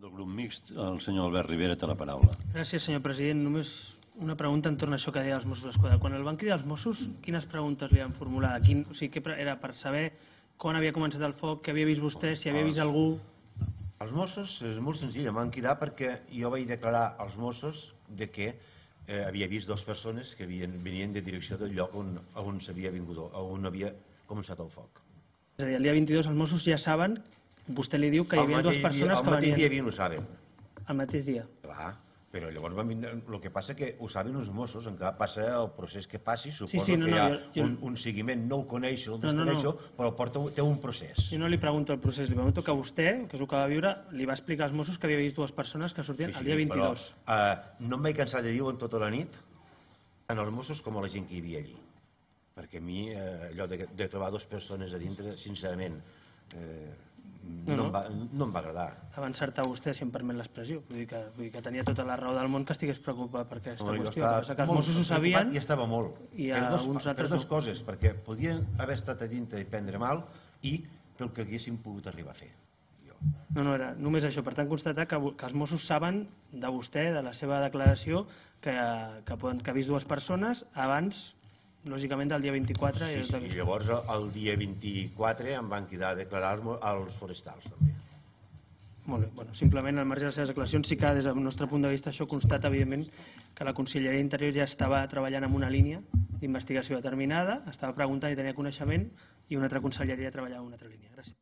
Del grup mixt, el senyor Albert Rivera té la paraula. Gràcies, senyor president. Només una pregunta entorn a això que deia els Mossos d'Esquadra. Quan el van cridar els Mossos, quines preguntes li van formular? O sigui, què era per saber quan havia començat el foc, què havia vist vostè, si havia vist algú? Els Mossos és molt senzill, em van cridar perquè jo vaig declarar als Mossos que havia vist dues persones que venien de direcció del lloc on s'havia vingut, on havia començat el foc. És a dir, el dia 22 els Mossos ja saben, vostè li diu que hi havia dues persones que venien... El mateix dia ho saben. El mateix dia? Clar, però llavors van vindre... El que passa que ho saben els Mossos, encara passa el procés que passi, suposo que hi ha un seguiment, no el coneixo, el desconeixo, però té un procés. Jo no li pregunto el procés, li pregunto que vostè, que és el que va viure, li va explicar als Mossos que havia vist dues persones que sortien el dia 22. Però no em vaig cansar de dir-ho en tota la nit, tant als Mossos com a la gent que hi havia allí. Perquè a mi allò de trobar dues persones a dintre, sincerament, no em va agradar. Va encertar vostè, si em permet l'expressió. Vull dir que tenia tota la raó del món que estigués preocupat per aquesta qüestió. Els Mossos ho sabien i estava molt. I alguns altres per dues coses, perquè podien haver estat a dintre i prendre mal i pel que haguessin pogut arribar a fer. No, era només això. Per tant, constatar que els Mossos saben de vostè, de la seva declaració, que ha vist dues persones abans, lògicament, del dia 24. I llavors el dia 24 em van cridar a declarar als forestals també. Molt bé. Simplement, al marge de les seves declaracions, sí que des del nostre punt de vista això constata, evidentment, que la Conselleria d'Interior ja estava treballant en una línia d'investigació determinada, estava preguntant i tenia coneixement, i una altra conselleria treballava en una altra línia. Gràcies.